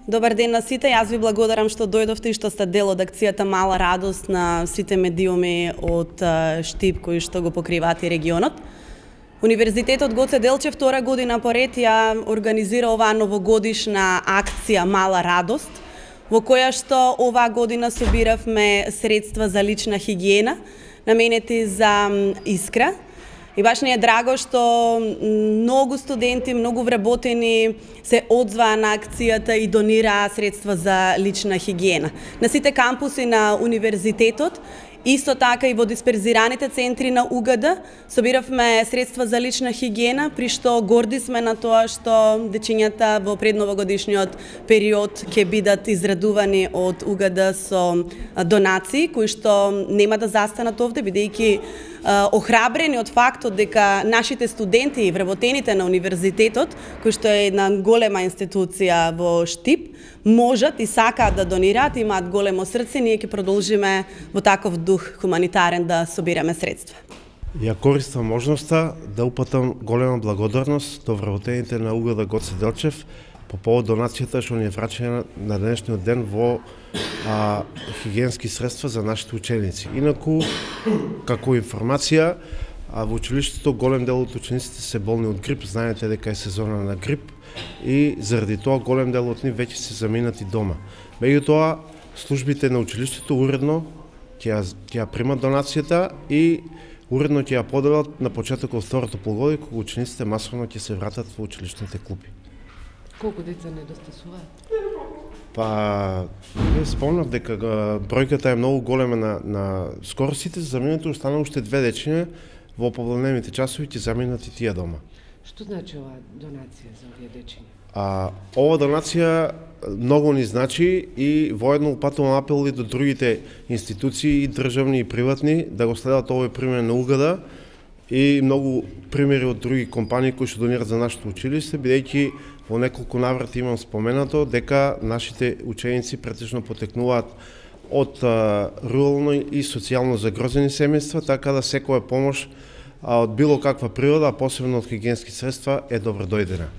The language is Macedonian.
Добар ден на сите. Јас ви благодарам што дојдовте и што сте дел од акцијата Мала радост на сите медиуми од Штип кои што го покриваат и регионот. Универзитетот Гоце Делчев втора година поред ја организира оваа новогодишна акција Мала радост, во која што оваа година собиравме средства за лична хигиена, наменети за Искра. И баш ни е драго што многу студенти, многу вработени се одзваа на акцијата и донираа средства за лична хигиена. На сите кампуси на универзитетот, исто така и во дисперзираните центри на УГД, собиравме средства за лична хигиена, при што горди сме на тоа што дечињата во предновогодишниот период ќе бидат израдувани од УГД со донации, кои што нема да застанат овде, бидејќи охрабрени од фактот дека нашите студенти и вработените на универзитетот, кој што е една голема институција во Штип, можат и сакаат да донираат, имаат големо срце, ние ќе продолжиме во таков дух хуманитарен да собираме средства. Ја користам можноста да упатам голема благодарност до вработените на УГД Гоце Делчев по повод донацијата што ни е врачена на денешниот ден во хигиенски средства за нашите ученици. Инаку, како информација, во училиштето голем дел од учениците се болни од грип, знаете дека е сезона на грип и заради тоа голем дел од нив веќе се заминати дома. Меѓутоа, службите на училиштето уредно ќе ја примат донацијата и уредно ќе ја поделат на почетокот второто полугодие кога учениците масовно ќе се вратат во училишните клуби. Колку деца недостасуваат? Спомнав дека бројката е многу голема на скоро сите заминати, останаа уште 2 дечиња во попладневните часови ќе заминат и тие дома. Што значи оваа донација за овие дечиња? Ова донација многу ни значи и воедно упатувам апел и до другите институции, и државни и приватни, да го следат овој пример на УГД и многу примери од други компании кои што донират за нашето училиште, бидејќи во неколку наврати имам споменато дека нашите ученици претежно потекнуваат од рурално и социјално загрозени семејства, така да секоја помош од било каква природа, а посебно од хигиенски средства, е добро дојдена.